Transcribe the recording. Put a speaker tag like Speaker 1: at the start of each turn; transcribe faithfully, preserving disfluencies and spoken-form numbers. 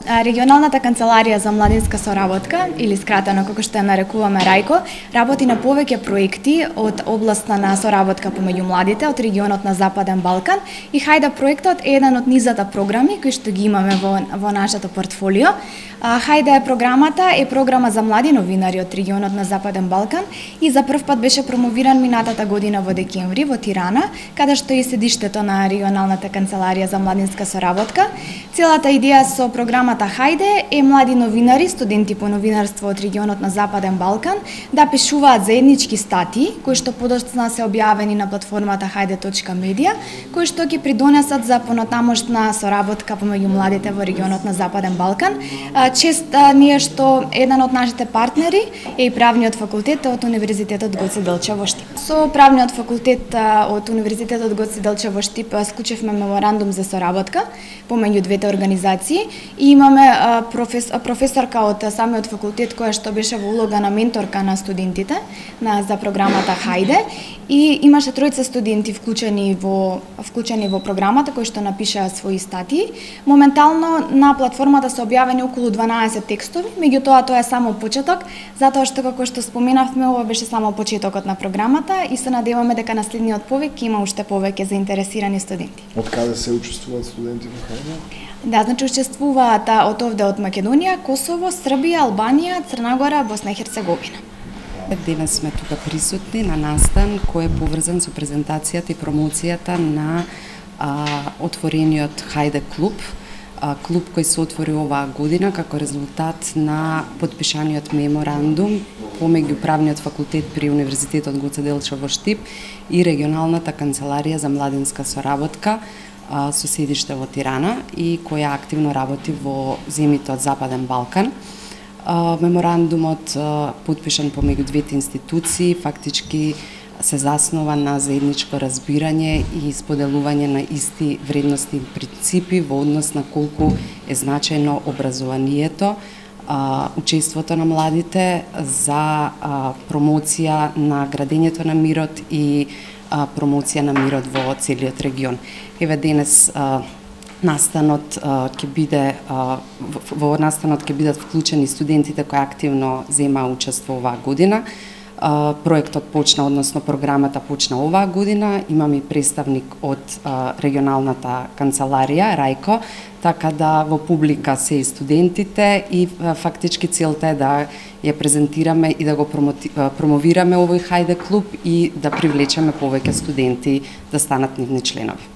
Speaker 1: Регионалната канцеларија за младинска соработка, или скратено како што ја нарекуваме Рајко, работи на повеќе проекти од областта на соработка помеѓу младите од регионот на Западен Балкан и Хајде проектот е еден од низата програми кои што ги имаме во, во нашето портфолио. Хајде програмата е програма за млади новинари од регионот на Западен Балкан и за прв пат беше промовиран минатата година во декември во Тирана, каде што е седиштето на регионалната канцеларија за младинска соработка. Целата идеја со програмата Хајде е млади новинари, студенти по новинарство од регионот на Западен Балкан да пишуваат заеднички статии кои што подоцна се објавени на платформата хајде точка медија, кои што ќе придонесат за понатамошна соработка помеѓу младите во регионот на Западен Балкан. Чест ние што еден од нашите партнери е и правниот факултет од Универзитетот Гоце Делчев во Штип. Со правниот факултет од Универзитетот Гоце Делчев во Штип склучевме меморандум за соработка помеѓу двете организации и имаме професор, професорка од самиот факултет која што беше во улога на менторка на студентите на за програмата Хајде и имаше тројца студенти вклучени во вклучени во програмата кои што напишаа своји статии. Моментално на платформата се објавени околу дванаесет текстови, меѓутоа тоа е само почеток, затоа што како што споменавме ова беше само почетокот на програмата и се надеваме дека наследниот повек ќе има уште повеќе заинтересирани студенти.
Speaker 2: Од каде се учествуваат студенти во Хајде?
Speaker 1: Да, значи учествуваат од овде од Македонија, Косово, Србија, Албанија, Црна Гора, Босна и Херцеговина.
Speaker 3: Денес сме тука присутни на настан кој е поврзан со презентацијата и промоцијата на а, отворениот Хајде клуб, а, клуб кој се отвори оваа година како резултат на потпишаниот меморандум помеѓу правниот факултет при Универзитетот Гоце Делчев во Штип и регионалната канцеларија за младинска соработка со седиште во Тирана и која активно работи во земјите од Западен Балкан. Меморандумот потпишан помеѓу двете институции фактички се заснова на заедничко разбирање и споделување на исти вредности и принципи во однос на колку е значајно образованието, учеството на младите за промоција на градењето на мирот и промоција на мирот во целиот регион. Еве денес а, настанот ќе биде а, во настанот ќе бидат вклучени студентите кои активно земаа учество оваа година. А, проектот почна, односно програмата почна оваа година. Имаме и представник од а, регионалната канцеларија Рајко, така да во публика се и студентите и а, фактички целта е да ја презентираме и да го промовираме овој Хајде клуб и да привлечеме повеќе студенти да станат нивни членови.